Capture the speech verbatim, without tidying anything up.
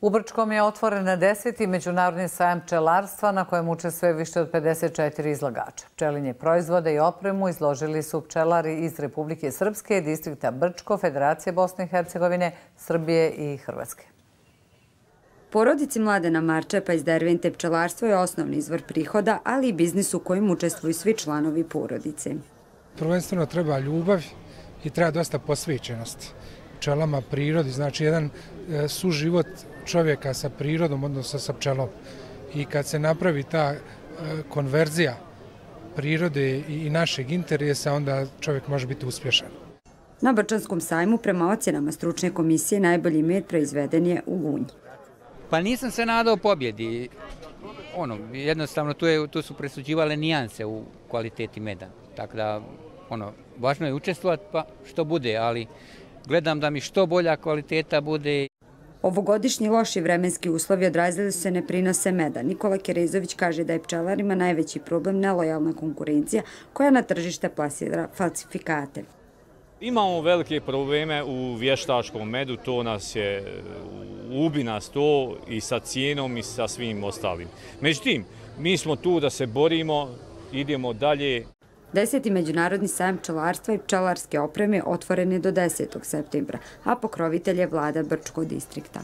U Brčkom je otvoren deseti međunarodni sajam pčelarstva na kojem učestvuje više od pedeset četiri izlagača. Pčelinje proizvode i opremu izložili su pčelari iz Republike Srpske, distrikta Brčko, Federacije Bosne i Hercegovine, Srbije i Hrvatske. Porodici Mladena Marčepa iz Dervente pčelarstvo je osnovni izvor prihoda, ali i biznis u kojem učestvuju svi članovi porodice. Prvenstveno treba ljubav i treba dosta posvećenosti pčelama, prirodi, znači jedan suživot čovjeka sa prirodom, odnosno sa pčelom. I kad se napravi ta konverzija prirode i našeg interesa, onda čovjek može biti uspješan. Na Brčanskom sajmu, prema ocjenama stručne komisije, najbolji med proizveden je u Gunji. Pa nisam se nadao pobjedi. Ono, jednostavno tu, je, tu su presuđivale nijanse u kvaliteti meda. Tako da, ono, važno je učestvovati pa što bude, ali gledam da mi što bolja kvaliteta bude. Ovogodišnji loši vremenski uslovi odrazili su se ne prinose meda. Nikola Kerezović kaže da je pčelarima najveći problem nelojalna konkurencija koja na tržište plasira falsifikate. Imamo velike probleme u vještačkom medu, to nas je, ubi nas to i sa cijenom i sa svim ostalim. Međutim, mi smo tu da se borimo, idemo dalje. Deseti međunarodni sajam pčelarstva i pčelarske opreme otvoren je do desetog septembra, a pokrovitelj je vlada Brčkog distrikta.